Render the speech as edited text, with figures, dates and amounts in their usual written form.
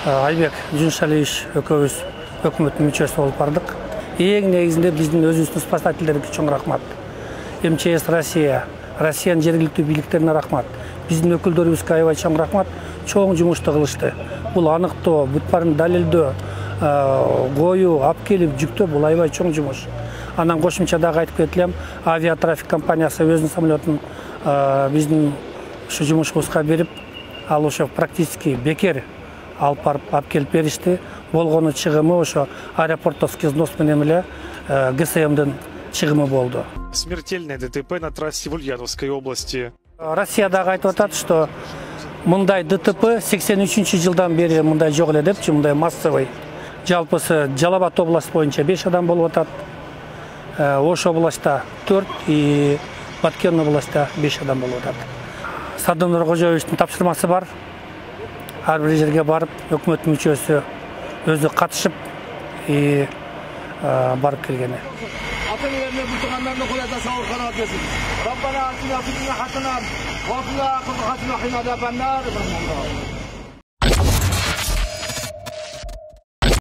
Айбек Жуншалиевич экөөбүз өкмөттүн мүчөсү болуп бардык. Эң негизинде биздин өзүбүздүн спасательдерге чоң рахмат. МЧС Россиянын жергиликтүү бийликтерине рахмат. Биздин өкүлдөрүбүзгө аябай чоң рахмат. Чоң жумушту кылышты. Бул аныктоо, бүт баарын далилдөө, коюу, алып келип жүктөө бул аябай чоң жумуш. Анан кошумча дагы айтып кетелем, авиатрафик компаниясы өзүнүн самолетун биздин ушу жумушубузга берип, ал ошо практически бекер алып барып алып келип беришти. Болгону чыгымы ошо аэропортовский взнос менен эле ГСМдин чыгымы болду. Смертельное ДТП на трассе в Ульяновской области. Россия дагы айтып атат, что мындай ДТП 83-жылдан бери мындай жок эле депчи, мындай массовый. Жалпысы Жалал Абад областы боюнча 5 адам болуп атат. Ош областта 4 и Баткен областта 5 адам болуп атат. Садым Нуркожоевичтин тапшырмасы бар. Ар бир жерге барып, өкмөттүн мүчөсү өзү катышып барып келгени. ربنا آتنا في الدنيا حسنة وفي الآخرة حسنة وقنا عذاب النار.